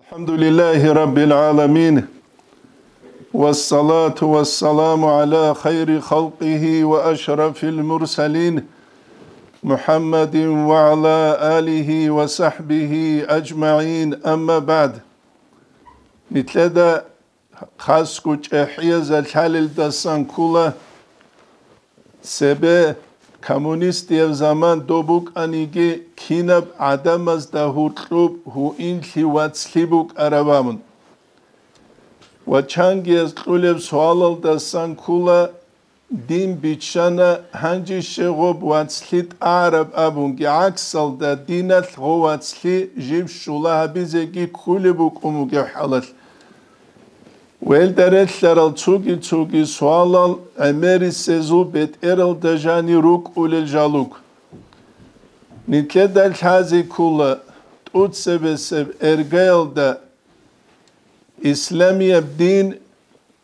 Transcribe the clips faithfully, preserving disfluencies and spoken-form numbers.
الحمد لله رب العالمين، والصلاة والسلام على خير خلقه وأشرف المرسلين، محمد وعلى آله وصحبه أجمعين، أما بعد. Нилъеда хасго чӀехӀиязда лъалелдасан ккола, цебе коммунистияб заман доб букӀаниги, кинаб гӀадамазда гьуркьуб гьуинлъи вацлъи букӀараб абун. Ва чангияз кьулеб суалалдасан ккола, дин биччана, гьанже щегъуб вацлъи тӀагӀараб абунги, гӀаксалда диналъ гъов вацлъи жив щула гьабизеги кколеб букӀун бугеб хӀалалъ. Велда релълъарал цоги-цоги суалал гӀемерисезул бетӀералда жани рукӀулел жалуг. Нилъеда лъазе ккола тӀуцебесеб эргаялда исламияб дин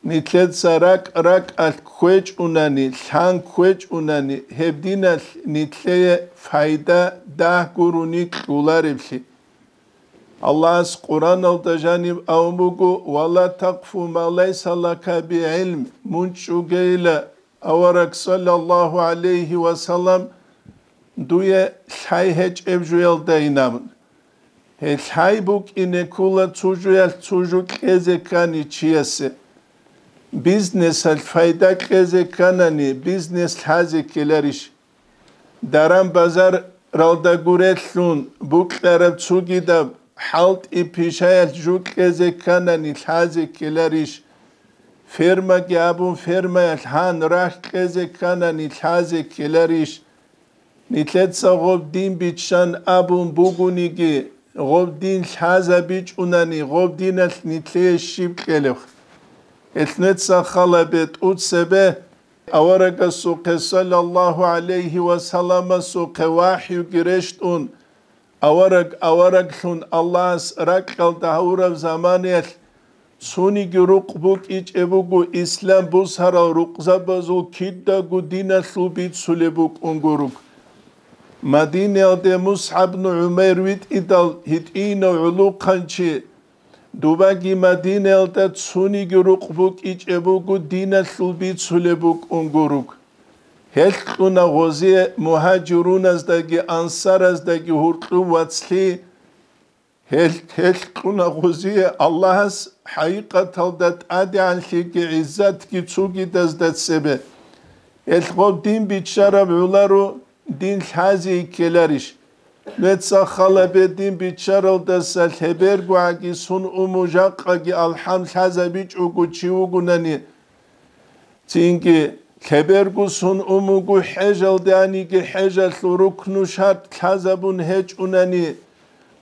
нилъеца ракӀ-ракӀалъ кквечӀунани, лъан кквечӀунани, гьеб диналъ нилъее пайда дагь гурони кьолареблъи. Аллагьас Къуръаналда жаниб абун буго: «Ва ла такъфу ма лайса лака би гӀилм», мун чӀугейила авараг, саллаллагьу гӀалайгьи ва саллам, дуе лъай гьечӀеб жуялдайин абун. Гьеб лъай букӀине ккола цо жуялъ цо жо кьезе ккани чиясе. Бизнесалъ пайда кьезе кканани, бизнес лъазе ккеларищ? Даран-базаралда гурелъун букьараб цогидаб хӀалтӀи-пишаялъ жо кьезе кканани, лъазе ккеларищ? Фермаги абун, фермаялъ гьан рахь кьезе кканани, лъазе ккеларищ? Нилъеца гъоб дин биччан абун бугониги, гъоб дин лъазабичӀунани, гъоб диналъ нилъее щиб кьелеб? Гьелъ нилъеца хал гьабе тӀуцебе, аварагасухъе, саллаллагьу гӀалайгьи ва салламасухъе вахӀюги рещтӀун, авараг авараглъун Аллагьас ракьалда гьавураб заманаялъ цониги рукъ букӀичӀеб буго ислам бусарал рукъзабазул кидаго диналъул бицулеб букӀун гуруг. Мадинаялде МусгӀаб бну ГӀумайр витӀидал гьитӀинав гӀулухъанчи, дубаги Мадинаялда цониги рукъ букӀичӀеб буго диналъул бицулеб букӀун гуруг. Гьелъ кьуна гъозие мугьажируназдаги ансараздаги гьуркьуб вацлъи, гьелъ, гьелъ кьуна гъозие Аллагьас хӀакъикъаталда тӀадегӀанлъиги гӀиззатги цогидазда цебе. Гьелъ гъоб дин биччараб гӀоларо дин лъазе ккеларищ? Нилъеца хал гьабе дин биччаралдаса лъебергогӀаги сон уму жакъаги алхӀам лъазабичӀого чи вугонани, цинги лъеберго сон умуго хӀежалде аниги хӀежалъул рукну шартӀ лъазабун гьечӀунани,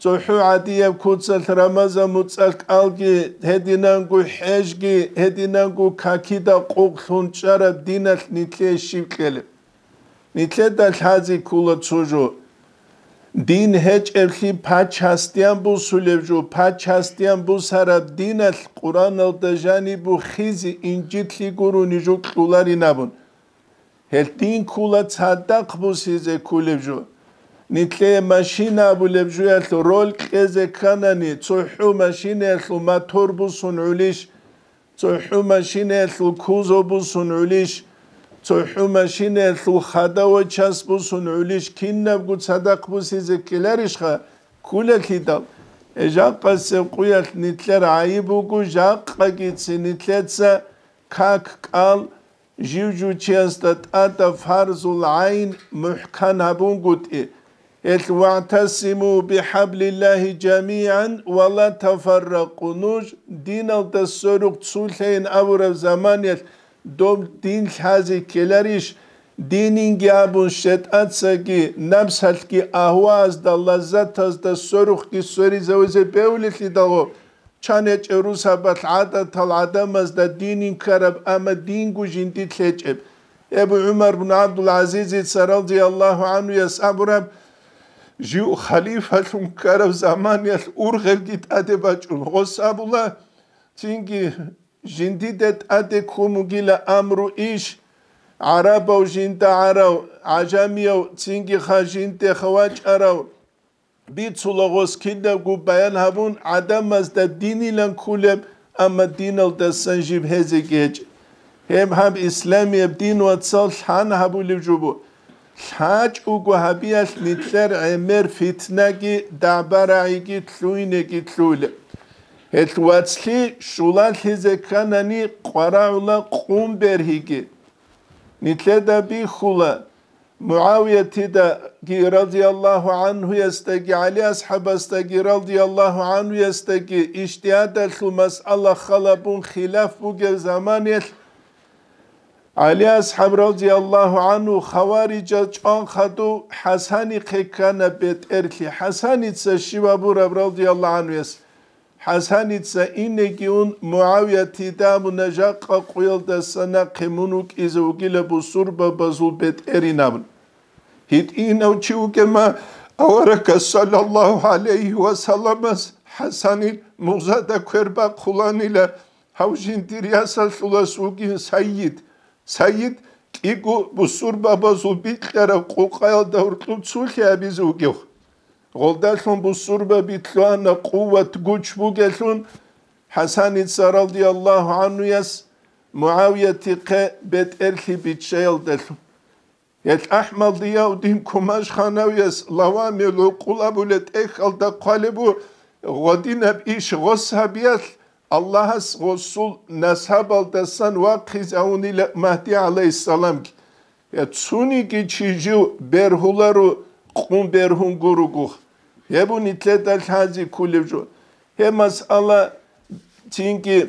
цохӀо гӀадияб куцалъ Рамазан муцӀалъ кӀалги, гьединанго хӀежги, гьединанго какида къокълъун чӀараб диналъ нилъее щиб кьелеб? Нилъеда лъазе ккола цо жо. Дин гьечӀеблъи пачасдиян бусулеб жо, пачасдиян бусараб диналъ Къуръаналда жаниб бухъизе инжитлъи гурони жо кьоларин абун. Гьелъ дин ккола цадахъ бусизе кколеб жо. Нилъее машина абулеб жоялъул роль кьезе кканани, цохӀо машинаялъул мотор бусун гӀулищ? ЦохӀо машинаялъул кузов бусун гӀулищ, цохӀо машинаялъул хадавай час бусун гӀулищ, кинабго цадахъ бусизе ккеларищха? Кколелъидал, жакъасеб къуялъ нилъер гӀайиб буго, жакъагицин нилъеца как кӀал жив-жив чиясда тӀадаб фарзул гӀайн мухӀкан гьабунгутӀи, гьелъ: «ВагӀтасиму бихӀаблиллагьи жамигӀан ва ла тафарракъу». Нуж диналда сверухъ цолъайин абураб заманаялъ доб дин лъазе ккеларищ? Дининги абун, шайтӀацаги напсалъги агьваазда, лаззатазда сверухъги сверизавизе бегьулелъидал, чан гьечӀеб русабалъ гӀадатал гӀадамазда дин инкараб, амма динго жиндилъ гьечӀеб. Абу ГӀумар бну ГӀабдул-ГӀазизица радияллагьу гӀанхуяс абураб, жив халифалъун ккараб заманаялъ ургъелги тӀаде бачӀун гъос абула, цинги жиндида тӀаде ккун бугила амру иш, гӀарабав жинда гӀарав, гӀажамияв цинги ха жиндеха вачӀарав, бицула гъос кинабго баян гьабун, гӀадамазда динилан кколеб, амма диналдасан жиб гьезеги гьечӀеб. Гьеб гьаб исламияб дин, вацал, лъан гьабулеб жо буго. ЛъачӀого гьабиялъ нилъер гӀемер фитнаги дагӀба-рагӀиги лъугьинеги лъугьулеб. Гьелъ вацлъи щулалъизе кканани къварагӀула къум бергьиги. Нилъеда бихьула, МугӀавиятидаги радияллагьу гӀанхуясдаги, ГӀали асхӀабасдаги радияллагьу гӀанхуясдаги ижтигьадалъул масъала халабун хилаф бугеб заманаялъ, ГӀали асхӀаб радияллагьу гӀанху хаварижал чӀван хадув ХӀасанихъе ккана бетӀерлъи. ХӀасаница щиб абураб радияллагьу гӀанхуяс? ХӀасаница инеги ун, МугӀавиятида абуна, жакъа къуялдаса нахъе мун вукӀизе вугила бусурбабазул бетӀерин абун. ГьитӀинав чи вугема, аварагас саллаллагьу гӀалайгьи ва салламас ХӀасанил мугъзада квер бахъуланила, гьав жиндир ясалъулас вугин сайид. Сайид кӀиго бусурбабазул бикьараб къукъаялда гьоркьоб цулъи абизе вугев. Гъолдалъун бусурбаби лъугьана къуват-гуч бугелъун, ХӀасаница радияллагьу гӀанхуяс МугӀавиятихъе бетӀерлъи биччаялдалъун. Гьелъ АхӀмад Зияуддин Кумашханавияс Лавамил гӀукъул абулеб тӀехьалда хъвалеб буго, гъодинаб иш гъос гьабиялъ Аллагьас гъосул насабалдасан вахъизавунила Магьди гӀалайгьиссаламги. Я цониги чи жив бергьуларо, къум бергьун гуругух. Гьеб нилъеда лъази кколеб жо. Гьеб масъала цинги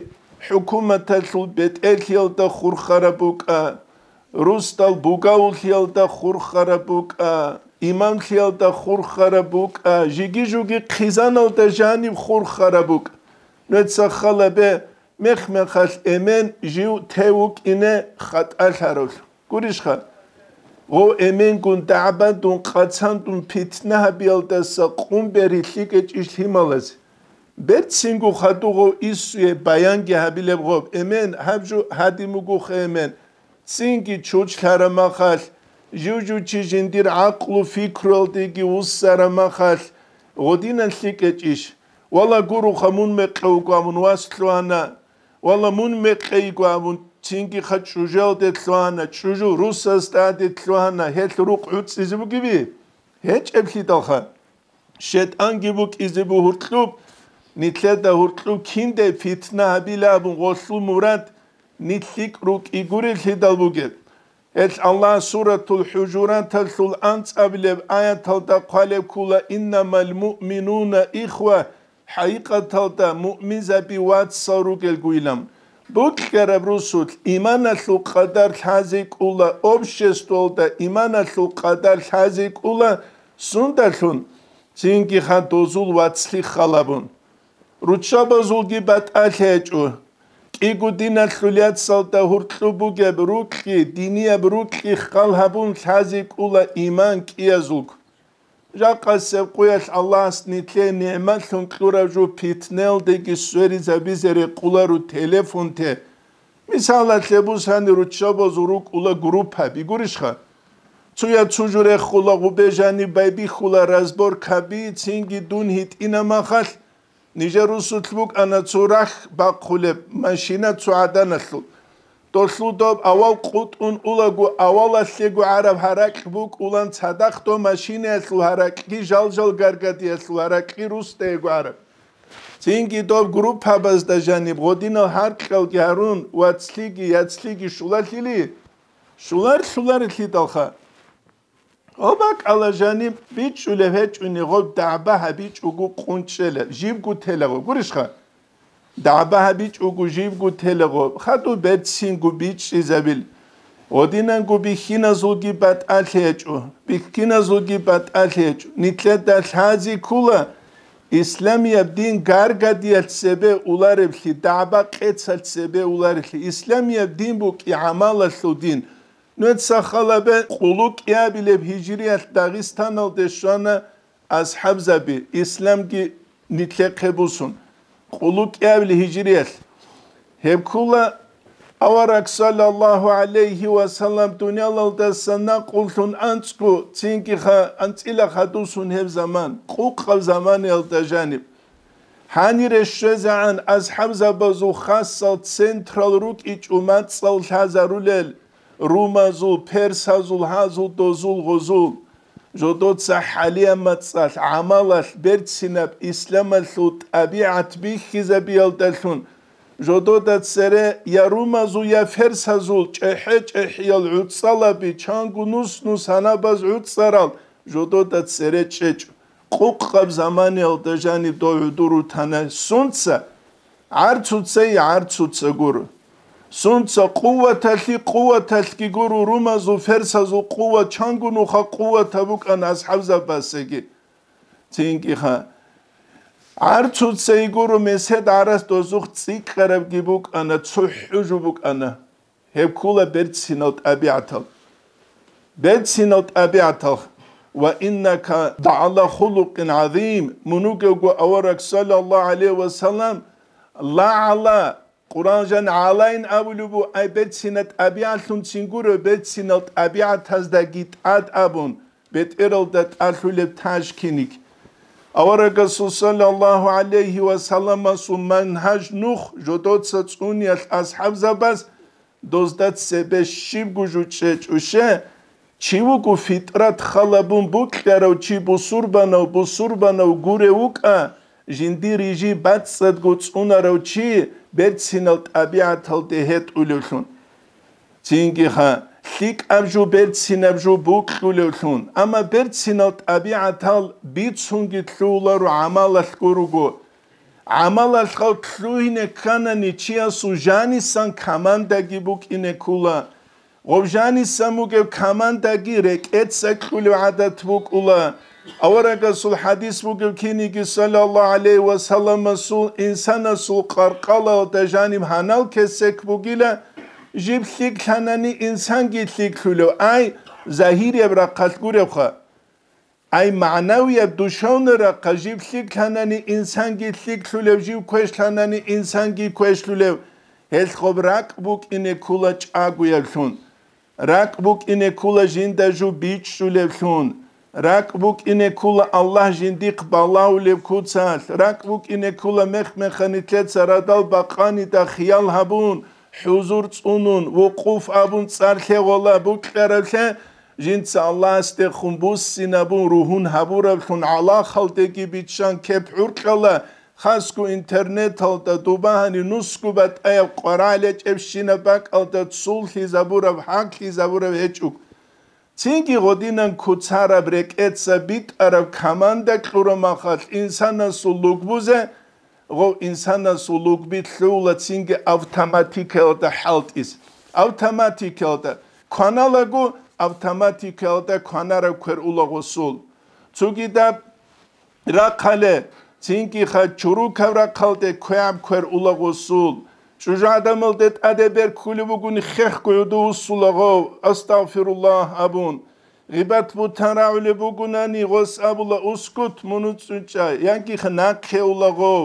хӀукуматалъул бетӀерлъиялда хурхараб букӀа, русдал бугавуллъиялда хурхараб букӀа, имамлъиялда хурхараб букӀа, жиги-жуги хъизаналда жаниб хурхараб букӀа. Нуца халабе, мех-мехалъ эмен жив тев вукӀине хатӀалъаравлъун. Гурищха, гъов эменгун дагӀбадун, къацандун питна гьабиялдаса къун бергьи лъикӀечӀищ лъималазе? Берцинго хадув гъов иссуе баянги гьабилеб гъоб, эмен, гьаб жо гьадин бугоха, эмен. Цинги чучлъараб махалъ, жив-жив чи жиндир гӀакълу-фикруялдеги вуссараб махалъ, гъодинан лъикӀечӀищ? Вала, гуроха, мун мекъи вуго абун вас лъугьана. Вала, мун мекъи йиго абун, цинги ха чӀужуялде лъугьана, чӀужу русас тӀаде лъугьана, гьелъ рукъ гӀуцӀизе бугеби? ГьечӀеблъидалха. ШетӀанги букӀизе буго гьуркьуб, нилъеда гьуркьуб кинде питна гьабила абун гъолъул мурад нилъ лъикӀ рукӀи гурелъидал бугеб. Гьелъ Аллагь Суратул ХӀужураталъул анцӀабилеб аяталда хъвалеб ккола: «Иннамал муъминуна ихва», хӀакъикъаталда муъминзаби вацал ругелгуйилан. Букьараб русулъ иманалъул къадар лъазе кӀула, обществалда иманалъул къадар лъазе кӀула, сундалъун цинги ха дозул вацлъи халабун. Руччабазулги батӀалъи гьечӀо. КӀиго диналъул яцалда гьуркьу бугеб рукьи, динияб рукьи хал гьабун лъазе кӀула иман кӀиязулго. Жакъасеб къуялъ Аллагьас нилъее нигӀматлъун кьураб жо питнелдеги сверизабизе рекъоларо телефонте. Мисалалъе бусани, руччабазул рукӀула группаби, гурищха? Цуя цу жо рехула, гъубе жаниб байбихьула разборкаби, цинги дун гьитӀина махалъ, нижер русулъ букӀана цо рахь бахъулеб машина цо гӀаданалъул. Долъул доб авал къутӀун улаго, авалалъего гӀараб гьаракь букӀулан, цадахъ доб машинаялъул гьаракьги жал-жал гаргадиялъул гьаракьги русдаего гӀараб. Цинги доб группабазда жаниб гъодинал гьаркьалги гьарун, вацлъиги яцлъиги щулалъили, щулар-щуларелъидалха. Гьоб бакӀала жаниб бичӀчӀулеб гьечӀони, гъоб дагӀба гьабичӀого къунчӀела, жибго телаго, гурищха? ДагӀба гьабичӀого жибго телаго, хадуб берцинго бичӀчӀизабил. Гъодинанго бихьиназулги батӀалъи гьечӀо, бихьиназулги батӀалъи гьечӀо. Нилъеда лъази ккула, исламияб дин гаргадиялъ цебе улареблъи, дагӀба къецалъ цебе улареблъи. Исламияб дин букӀи гӀамалалъул дин. Нуца халабе къулу кӀиабилеб гьижриялъ Дагъистаналде щвана асхӀабзаби, исламги нилъехъе бусун. Къулу кӀиабили гьижриялъ. Гьеб ккула Авараг саллаллагьу гӀалайгьи ва саллам дуниялалдаса накъуллъун анцӀго, цинги ха-, анцӀила хадусун гьеб заман, къукъаб заманиялда жаниб. Гьанире щвезегӀан асхӀабзабазул хасал централ рукӀичӀо мацӀал лъазарулел румазул, персазул, гьазул, дозул, гъозул. Жодоца хӀалияб мацӀалъ, гӀамалалъ, берцинаб исламалъул тӀабигӀат бихьизабиялдалъун, жодода цере я румазул, я ферсазул чӀехӀе-чӀехӀиял гӀуцӀалаби, чанго нус-нус гьанабаз гӀуцӀарал жодода цере чӀечӀо. Къукъаб заманиялда жаниб дов гӀодор рутана. Сунца? ГӀарцуцей гӀарцуца гуро. Сунца? Къуваталъи къуваталъги гуро, румазул, ферсазул къуват, чанго нуха къуватаб букӀана асхӀабзабазеги. Цинги ха. ГӀарцуцей гуро, месед гӀарац дозухъ цӀикӀкӀарабги букӀана, цохӀо жо букӀана. Гьеб ккула берцинал тӀабигӀатал. Берцинал тӀабигӀатал. «Ва иннака лагӀала хулукъин гӀазим», мун вугевго авараг саллаллагьу гӀалайгьи ва саллам, лагӀала, Къуран жан гӀалайин абулеб бу, ай берцинал тӀабигӀатлъунцин гуро, берцинал тӀабигӀатаздаги тӀад абун, бетӀералда тӀалъулеб таж киник. Аварагасул саллаллагьу гӀалайгьи ва салламасул мангьаж нух жодоца цӀуниялъ асхӀабзабаз, дозда цебе щибго жо чӀечӀуще, чи вуго фитрат халабун букьарав чи, бусурбанав, бусурбанав гурев вукӀа, жиндир рижи бацӀцӀадго цӀунарав чи берцинал тӀабигӀаталде гьетӀулевлъун. Цинги ха, лъикӀаб жо, берцинаб жо букьулевлъун. Амма берцинал тӀабигӀатал бицунги лъугьуларо гӀамалалъго руго. ГӀамалалъ гъав лъугьине кканани, чиясул жанисан командаги букӀине ккула. Гъов жанисан бугеб командаги рекӀеца кьулев гӀадат букӀула. Аварагасул хадис бугеб киниги, саллаллагьу гӀалайгьи ва салламасул, инсанасул къаркъалалда жаниб гьанал кесек бугила, жиб лъикӀлъанани инсанги лъикӀлъулев, ай, загьирияб рахъалъ гуребха. Ай, магӀнавияб, душевный рахъалъ, жиб лъикӀлъанани инсанги лъикӀлъулев, жив квешлъанани инсанги квешлъулев, гьелъ гъоб ракӀ букӀине ккула чӀагояблъун. РакӀ букӀине ккула жинда жо бичӀчӀулевлъун. РакӀ букӀине ккула Аллагь жиндихъ балагьулеб куцалъ. РакӀ букӀине ккула мех-механилъеца радал бакъанида хиял гьабун, хӀузур цӀунун, вукъуф абун цӀар лъегъола букьаравлъе, жинца Аллагьасдехун буссинабун ругьун гьабураблъун гӀалахалдеги биччан кеп гӀуркьала, хасго интернеталда дубагьани нусго батӀаяб къварагӀлъи гьечӀебщинаб бакӀалда цуллъизабураб, хӀаклъизабураб гьечӀого. Цинги гъодинан куцараб, рекӀеца битӀараб команда кьураб махалъ инсанасул лугбузе, гъов инсанасул лугби лъугьула цинги автоматикаялда хӀалтӀизе. Автоматикаялда кваналаго, автоматикаялда кванараб квер ула гъосул. Цогидаб рахъале, цинги ха чурукаб рахъалде квегӀаб квер ула гъосул. ЧӀужугӀадамалде тӀаде бер ккулеб бугони хехго гӀодов вуссула гъов, «Астагъфируллагь», абун. Гъибат-бугьтан рагӀулеб бугонани, гъос абула, «Ускут, мун уцӀцӀун чӀа», яги нахъе ула гъов.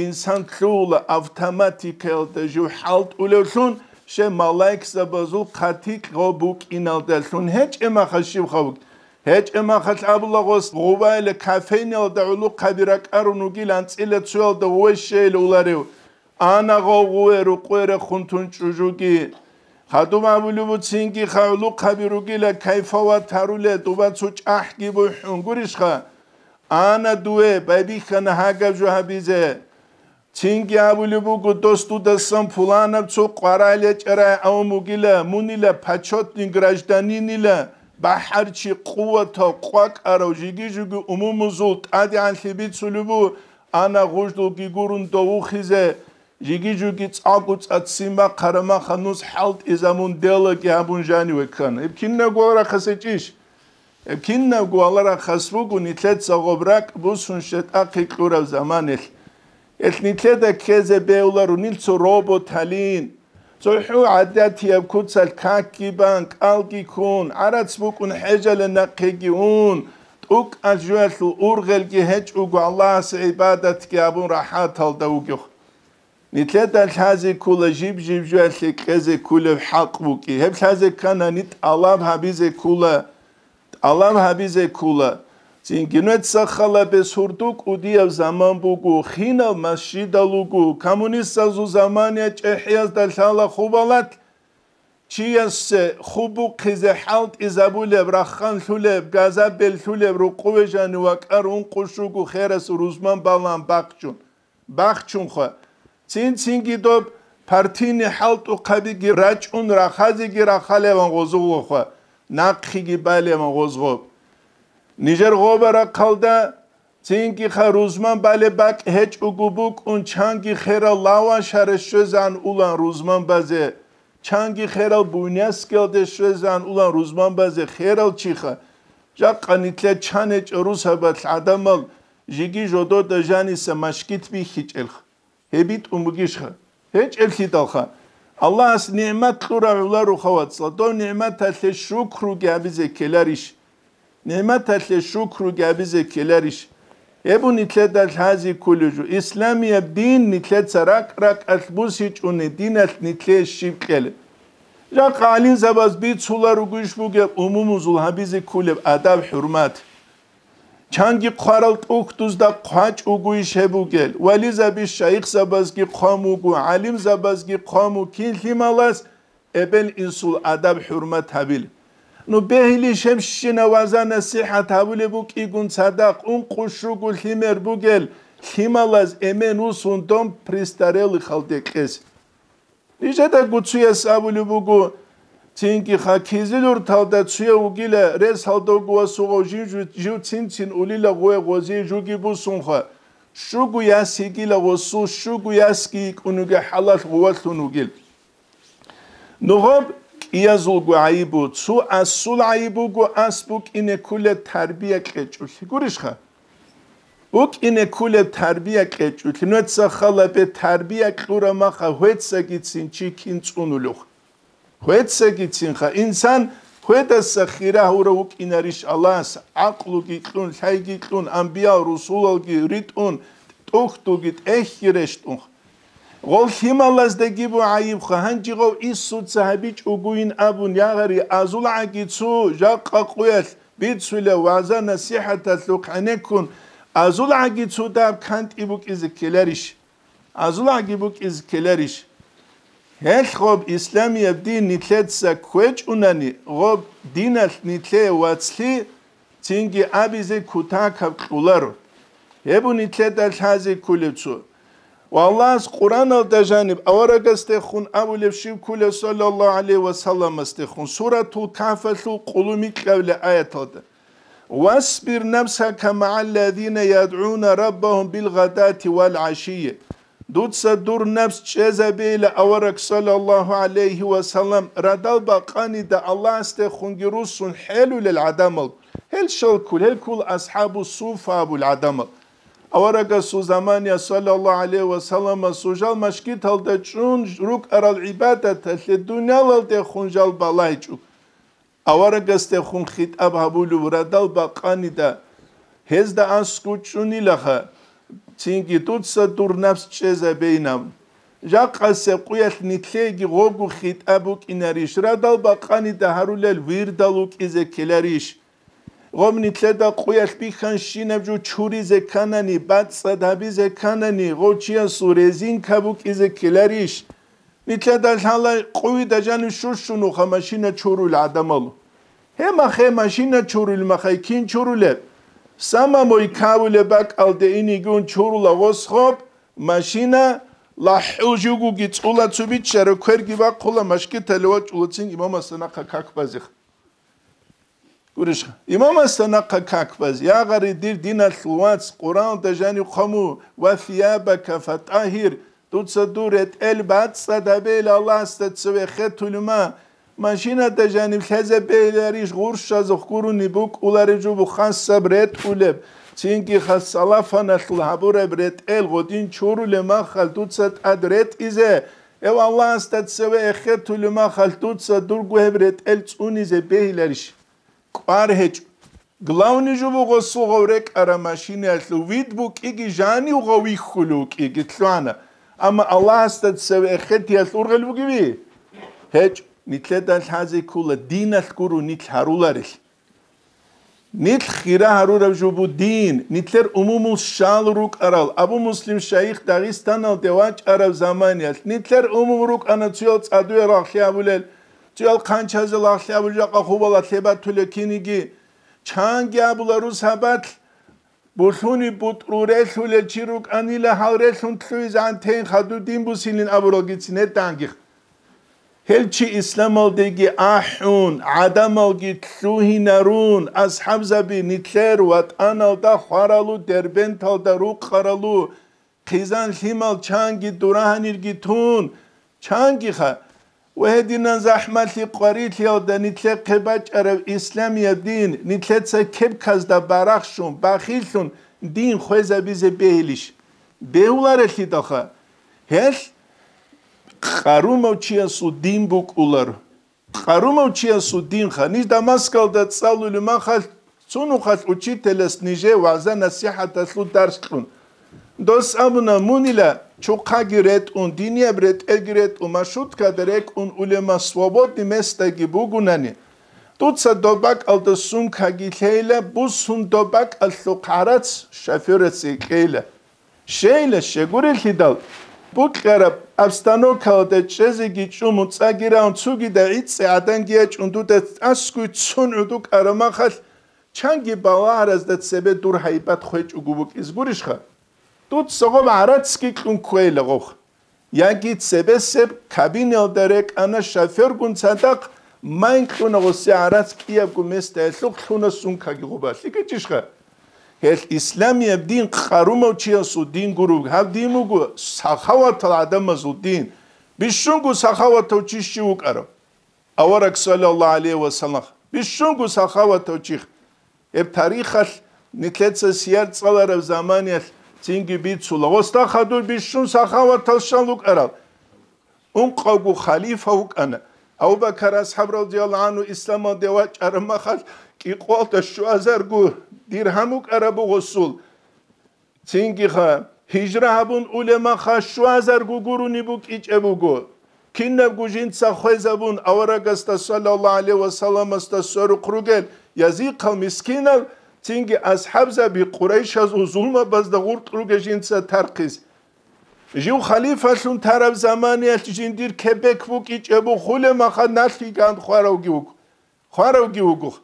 Инсан лъугьула автоматикаялда жив хӀалтӀулевлъун, щай малаикзабазул хъатикь гъов букӀиналдалъун. ГьечӀеб махалъ щиб ха вукӀ? ГьечӀеб махалъ абула гъос, гъувайила кофейниялда гӀулухъаби ракӀарун вугил анцӀила цоялда гъуве щейила уларев. Ана гъов гъуве рукъве рехун тун чӀужуги. Хадуб абулеб буцинги ха гӀулухъаби ругила кайфават гьаруле, дуба цо чӀахӀги бухӀун гурищха? Ана дуве байбихьана гьагаб жо гьабизе. Цинги абулеб буго, дос дудасан пуланаб цо къварагӀел ячӀарай авун вугила, мунила почётный гражданинила, бахӀарчи, къуватав, къвакӀарав, жиги-жуги умумузул тӀадегӀанлъи бицулеб бу, ана гъужлуги гурун довухизе, жиги-жуги цӀакъу цӀацин бахъараб махалъ нус хӀалтӀизабун делаги гьабун жаниве ккана. Гьеб кинабго варахъасе чӀищ? Гьеб кинабго валарахъас буго нилъеца гъоб ракӀ бусун щетӀахъе кьураб заманалъ. Гьелъ нилъеда ккезе бегьуларо нил цо робот гьалин. ЦохӀо гӀадатияб куцалъ какги бан, кӀалги ккун, гӀарац букӀун хӀежале нахъеги ун, тӀукӀалъ жоялъул ургъелги гьечӀого Аллагьасе гӀибадатги гьабун рахӀаталда вугев. Нилъеда лъазе ккола жиб-жиб жоялъе кьезе кколеб хӀакъ букӀи. Гьеб лъазе кканани тӀалаб гьабизе ккола, тӀалаб гьабизе ккола. Цинги нуца халабе сурду кӀудияв заман буго, хинал масжидал руго, коммунистазул замания чӀехӀиязда лъала хубалат, чиясе хубухъизе хӀалтӀизабулеб, рахханлъулеб, газабеллъулеб, рукъуве жанив вакӀар ункъо щуго херас рузман балан бахчун. Бахчунха. Цин-цинги доб партийный хӀалтӀухъабиги рачӀун, рахазеги рахалеван гъозулгъоха, нахъеги балеван гъозгъоб. Нижер гъоба рахъалда, цинги ха рузман балеб бакӀ гьечӀого букӀун, чанги херал Лавашаре щвезан улан рузман базе, чанги херал Буйнакскиялде щвезан улан рузман базе херал чиха. Жакъа нилъер чан гьечӀо русабалъ гӀадамал жиги жодода жаниса машгит бихьичӀелха. ГьебитӀун бугищха? ГьечӀеблъидалха. Аллагьас нигӀмат кьурав гӀоларуха, вацал, дов нигӀматалъе шукруги гьабизе ккеларищ? НигӀматалъе шукруги гьабизе ккеларищ? Гьеб нилъеда лъази кколев жо. Исламияб дин нилъеца ракӀ-ракӀалъ бусичӀони диналъ нилъее щиб кьела? Жакъа гӀалимзабаз бицула ругищ бугеб умумузул гьабизе кколеб адаб-хӀурмат? Чанги хъварал тӀухьдузда хъвачӀ вугойищ гьеб бугел, вализабищ шайихзабазги хъван вуго, гӀалимзабазги хъван вуго, кин лъималас эбел-инсул адаб-хӀурмат гьабил. Ну, бегьилищ гьебщинаб ваза-насихӀат гьабулеб букӀигун цадахъ ункъо щуго лъимер бугел лъималаз эмен усун дом престарелыхалде кьес. Нижеда гуцуяс абулеб буго, цинги ха кизилурталда цуя вугила, рес гьалдогу васугъав жив, жив цин-цин улила гъуе гъозие жуги бусунха, щугу яс йигила гъосул, щугу ясги йикӀунуге хӀалалъ гъувалъун вугил. Нугъаб кӀиязулго гӀайибу, цо асул гӀайиб буго, ас букӀине ккула тарбия кьечӀулъи. Гурищха? БукӀине ккула тарбия кьечӀулъи. Нуца халабе тарбия кьура маха гьвецагицин чи кин цӀунулев. Гьвецагицинха инсан гьведаса хира гьурав вукӀинарищ Аллагьас, гӀакълуги кьун, лъайги кьун, амбиял, русулалги ритӀун, тӀухьдулги тӀехьги рещтӀунха. Гъол лъималаздаги бу гӀайибха, гьанжи гъов Иисуца гьабичӀогойин абун ягъари азулгӀаги цо жакъа къуялъ бицула ваза-насихӀаталъухъ гӀенеккун, азулгӀаги цо даб кантӀи букӀизе ккеларищ? АзулгӀаги букӀизе ккеларищ? Гьелъ гъоб исламияб дин нилъеца кквечӀунани, гъоб диналъ нилъее вацлъи цинги абизе кутакаб кьуларо. Гьеб нилъеда лъазе кколев цо. Ва Аллагьас Къуръаналда жаниб аварагасдехун абулеб щиб кколев, саллаллагьу гӀалайгьи ва салламасдехун, Суратул Кагьфалъул къулумикьабилеб аяталда: «Васбир нафсака магӀаллазина ядгӀуна раббагьум билгъадати вал гӀашийи». Дуца дур напс чӀезабейила авараг, саллаллагьу гӀалайгьи ва саллам, радал бакъанида Аллагьасдехунги руссун хӀелулел гӀадамал, гьел щалккул, гьел ккул асхӀабу суфа абул гӀадамал. Аварагасул замания, саллаллагьу гӀалайгьи ва салламасул жал машгиталда чӀун рукӀарал гӀибадаталъе дуниялалдехун жал балагьичӀо. Аварагасдехун хитӀаб гьабулев радал бакъанида, гьезда аскӀучӀунилаха, цинги дуца дур напс чӀезабейнаб. Жакъасеб къуялъ нилъееги гъобго хитӀаб букӀинарищ, радал бакъанида гьарулел вирдал вукӀизе ккеларищ? Гъоб нилъеда къуялъ бихьанщинаб жо чуризе кканани, бацӀцӀад гьабизе кканани, гъов чиясул резинка букӀизе ккеларищ? Нилъеда лъала къуйда жанив щущунуха машина чурул гӀадамал. Гьемахъе машина чурул махай кин чурулеб? Самамой кавулеб бакӀалде инигун чурула гъос гъоб машина, лахӀул жугуги цӀула цу биччаро кверги бахъула машгитале вачӀулацин имамасда нахъа как базех. Гурищха, имамасда нахъа как баз, ягъари, дир диналъул вац, Къуръаналда жанив хъван ву: «Ва сиябака фатӀагьир», дуца дур ретӀел бацӀцӀад гьабейил Аллагьасда цеве хетулима, машинада жанив лъезабейиларищ гъурщазухъ гурони букӀулареб жо бу хасаб ретӀулеб, цинги хас салафаналъул гьабураб ретӀел гъодин чурулеб махал дуца тӀад ретӀизе, гьев Аллагьасда цеве эхетулеб махал дуца дурго гьеб ретӀел цӀунизе бегьиларищ? КӀвар гьечӀо. Главный жо буго сугъав рекӀара машинаялъул вид букӀиги жанив гъов вихьулев вукӀиги лъугьана. Амма Аллагьасда цеве эхетиялъ ургъел бугеви? ГьечӀ, нилъеда лъазе ккола диналъ гуро нилъ гьаруларел. Нилъ хира гьарураб жо бу дин, нилъер умумул щал рукӀарал, Абу Муслим шайих Дагъистаналде вачӀараб заманиялъ, нилъер умум рукӀана цоял цӀадуе рагълъи абулел, цоял хъанчазе лагълъи абулел, жакъа хубала лъебатулел киниги. Чанги абула рус гьабалъ, булъуни бутӀру релълъулел чи рукӀанила гьал релълъун лъугьизегӀан тейин хадур дин бусилин абуралгицин гьетӀанги. Гьел чи исламалдеги ахӀун, гӀадамалги лъугьинарун, асхӀабзаби нилъер ватӀаналда хваралу, Дербенталда рукъаралу, хъизан лъимал чанги дурагьанирги тун, чангиха, ва гьединан захӀмалъи къварилъиялда нилъехъе бачӀараб исламияб дин, нилъеца кепказда барахщун, бахиллъун дин хвезабизе бегьилищ? Бегьуларелъидалха, гьелъ къарумав чиясул дин букӀулар. Къарумав чиясул динха, ниж Дамаскалда цӀалулев махалъ, цо нухалъ учителас нижее вагӀза-насихӀаталъул дарс кьун. Дос абуна, мунила чухъаги ретӀун, динияб ретӀелги ретӀун, маршруткада рекӀун улема, свободный местаги бугунани, дуца доб бакӀалда сумкаги лъейила, бусун доб бакӀалъухъ гӀарац шофёрасе кьейила. Щейила, щегурелъидал, букьараб обстановкалда чӀезеги чӀун, муцӀаги раун, цогида гӀицӀи гӀаданги ячӀун, дуда тӀасгуй цун гӀуду кӀарамахалъ, чанги балагьаразда цебе дур гьайбат хвечӀого букӀиз гурищха? Дуца гъоб гӀарацги кьун кквейила гъохъ. Яги цебесеб кабиналда рекӀана шофёргун цадахъ, майн кьуна гъосе гӀарац кӀиябго местаялъухъ лъуна сумкаги гъоба. ЛъикӀичӀищха? Гьелъ исламияб дин къарумав чиясул дин гуро, гьаб дин буго сахаватал гӀадамазул дин. Бищунго сахаватав чи щив вукӀарав? Авараг саллаллагьу гӀалайгьи ва саллам. Бищунго сахаватав чи. Гьеб тарихалъ нилъеца сияр цӀалараб заманиялъ цинги бицула. Гъосда хадур бищун сахаватал щал вукӀарав? Ункъавго халифа вукӀана. Абу-Бакар асхӀаб радияллагьу гӀангьу исламалде вачӀараб махалъ кӀикъоялда щуазарго диргьам вукӀараб буго гъосул. Цингиха, гьижра гьабун улеб махалъ щуазарго гурони букӀичӀеб буго. Кинабго жинца хвезабун, аварагасда саллаллагьу гӀалайгьи ва салламасда сверухъ ругел язихъал мискинал, цинги асхӀабзаби Къурайшазул зулмабазда гъуркь ругел жинца тархъиз. Жив халифалъун тараб заманиялъ жиндир кебек букӀичӀеб бу хулеб махалъ налъги ган хваравги вуго. Хваравги вуго.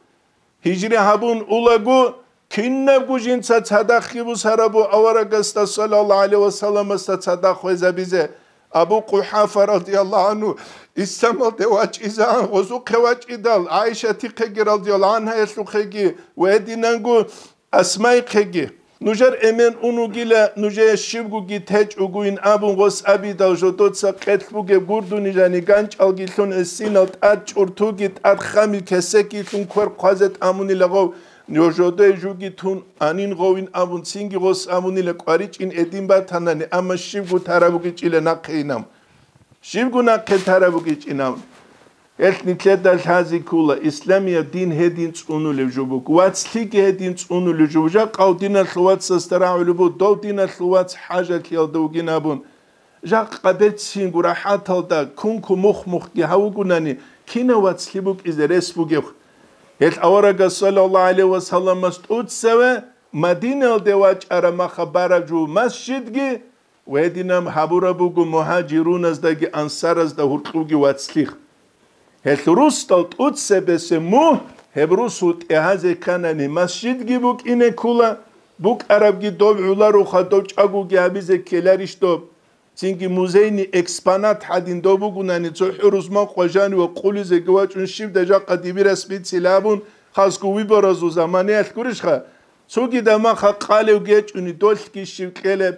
Гьижри гьабун улаго, кинабго жинца цадахъги бусарабу аварагасда саллаллагьу гӀалайгьи ва салламасда цадахъ хвезабизе. Абу Къухьафа радияллагьу гӀангьу исламалде вачӀизегӀан гъозухъе вачӀидал, ГӀайшатихъеги радияллагьу гӀангьаялъухъеги ва гьединанго Асмайхъеги. Нужер эмен ун вугила, нужее щибгоги течӀогойин абун гъос абидал, жодоца къелъ бугеб гурдуни жани ганчӀалги лъун гӀисинал тӀад чӀуртуги тӀад хамил кесекги лъун квер хъвазе тӀамунила гъов, жодое жуги тун анин гъовин абун цинги гъос абунила кӀваричӀин эдин батанани, амма щибго тараб бугичӀила нахъе инам. Щибго нахъе тараб бугичӀинав? Гьелъ нилъеда лъази ккола, исламияб дин гьедин цӀунулев жо буго, вацлъиги гьедин цӀунулев жо. Жакъав диналъул вацасда рагӀулеб буго, дов диналъул вац хӀажалъиялда вугин абун. Жакъа берцинго рахӀаталда кунку мухъ-мухъги гьавугунани, кинав вацлъи букӀизе рес бугеб? Гьелъ аварагас саллаллагьу гӀалайгьи ва салламас тӀуцаве Мадиналде вачӀараб маха бараб жо масжидги, Гьединаб гьабураб буго мугьажируназдаги ансаразда гьуркьуги вацлъи. Гьелъ русдал тӀуцебесеб мугь, гьеб русул тӀегьазе кканани масжидги букӀине ккола, букӀарабги доб гӀолароха, доб чӀагоги гьабизе ккеларищ доб? Цинги музейный экспонат гьадин доб бугунани цо хӀурус макъва жанив ва къулизеги вачӀун щибдай жакъа дибирас бицила абун, хасго выборазул заманаялъ гурищха? Цогидаб маха къалев гечӀони долъги щив кьелеб,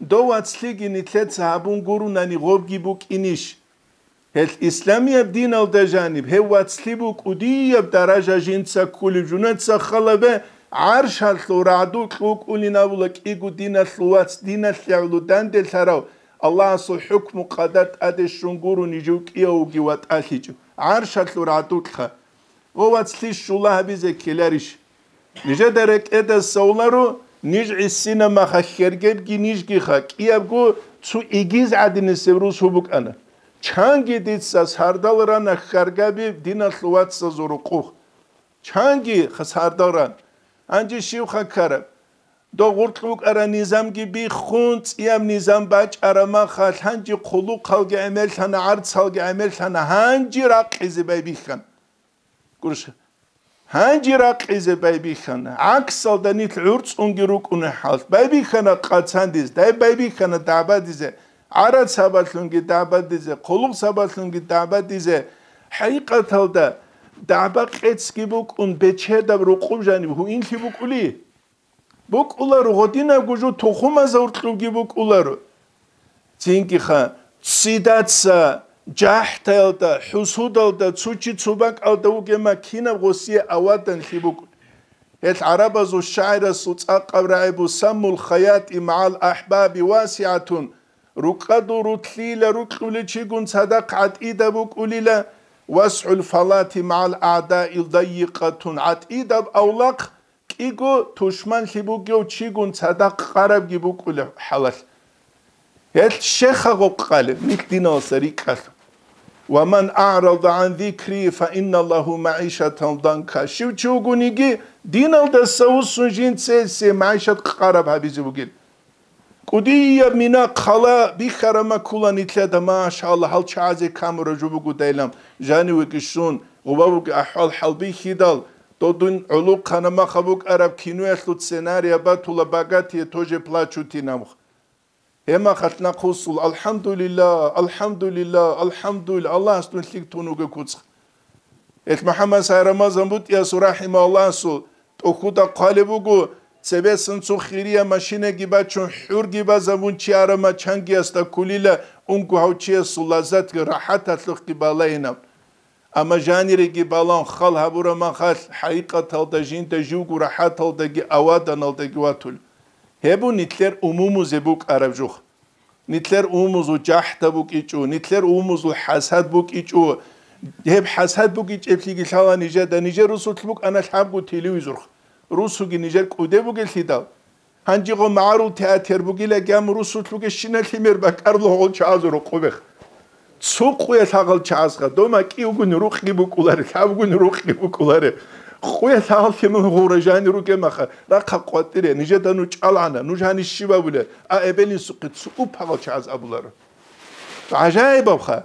дов вацлъиги нилъеца гьабун гурунани гъобги букӀинищ? Гьелъ исламияб диналда жаниб гьев вацлъи букӀудияб даража жинца ккулеб жунеца халабе гӀаршалъул рагӀду кьукӀулин абула кӀиго диналъул вац диналъе гӀоло данделъарав Аллагьасул хӀукму къадар тӀаде щун гурони жив кӀиявги ватӀалъичӀев гӀаршалъул рагӀдулъха. Гъо вацлъи щула гьабизе ккеларищ? Нижеда рекӀеда совларо, Ниж гӀисина маха хьергебги нижгиха, кӀиябго цо игиз гӀадинисеб русу букӀана. Чанги дица сардал рана хьаргаби диналъул вацазул рукъухъ. Чанги ха сардал ран. Гьанже щивха ккараб? Дов гъуркь букӀара низамги биххун, цӀияб низам бачӀара маха, гьанже хъулухъалги гӀемерлъана, гӀарцалги гӀемерлъана, гьанже ракъизе байбихьана. Гурищ, гьанже ракъизе байбихьана. ГӀаксалда нилъ гӀурцӀунги рукӀуна хӀалт. Байбихьана къацандиз, дай байбихьана дагӀбадизе, гӀарацабалъунги дагӀбадизе, хъулухъсабалъунги дагӀбадизе. ХӀакъикъаталда, дагӀба къецги букӀун, бечедаб рукъуб жаниб гьуинлъи букӀули? БукӀуларо, гъодинабго жо тухумазда гьуркьубги букӀуларо. Цинги-ха, ццидаса, жахӀтаялда, хӀусудалда, цо чи цо бакӀалда вугема кинаб гъосие аваданлъи букӀун. Гьел гӀарабазул шагӀирасул цӀакъаб рагӀи бу: «Саммул хаяти магӀал ахӀбаби васигӀатун», рукӀадул рутлъила рукьулев чигун цадахъ гӀатӀида букӀулила, «васгӀул фалати магӀал агӀдаил даййикъатун», гӀатӀидаб авлахъ кӀиго тушманлъи бугев чигун цадахъ къарабги букӀулеб хӀалалъ. Гьелъ щеха гъоб къалеб, нилъ диналдаса рикӀкӀалъ: «Ва ман а'рада гӀан зикри, фа инна лагьу магӀишатан данка». Щив чи вугониги, диналдаса вуссун жинца гьесие магӀишат къараб гьабизе бугел. КӀудияб мина хъала бихьарама ккула нилъеда, машалла, гьал чагӀазе камура жо бугодайилан, жанивеги щун, гъубабуги ахӀвал-хӀал бихьидал, додун гӀолохъанамаха букӀараб киноялъул сценария батула «Богатые тоже плачут» инаб. Гьемахалъ нахъвуссул: «Алхамдулилла, алхамдулилла, алхамдулилла, Аллагьас дун лъикӀ тун вугев куцӀ». Эл МухӀаммад Сай Рамазан БутӀиясул рахӀимагьуллагьасул тӀохьуда хъвалеб буго, цебесан цо хирияб машинаги бачун, хӀурги базабун чи арама чангиясда ккулила, унго гьав чиясул лаззатги рахӀаталъухъги балайинаб. Амма жаниреги балан хал гьабураб махалъ, хӀакъикъаталда жинда живго рахӀаталдаги аваданалдаги ватулеб. Гьеб бу нилъер умумузе букӀараб жух. Нилъер умумузул жахӀда букӀичӀо, нилъер умумузул хӀасад букӀичӀо. Гьеб хӀасад букӀичӀеблъиги лъала нижеда, нижер русулъ букӀана лъабго телевизор. Русуги нижер кӀуде бугеллъидал. Гьанжего магӀарул театр бугилаги, амма русулъ бугещинал лъимер бакӀаруларо гъол чагӀазул рукъубех. Цо къуялъ гьагъал чагӀазха, дома кӀиявгун рукъги букӀуларе, лъабгун рукъги букӀуларе. Къуялъ гьагъал лъимал гъура жани ругемаха, рахъа къватӀире, нижеда ну чӀалгӀана, нуж гьаниб щиб абулеб? А эбел-инсухъе цо уп гьагъал чагӀаз абуларо. ГӀажаибабха!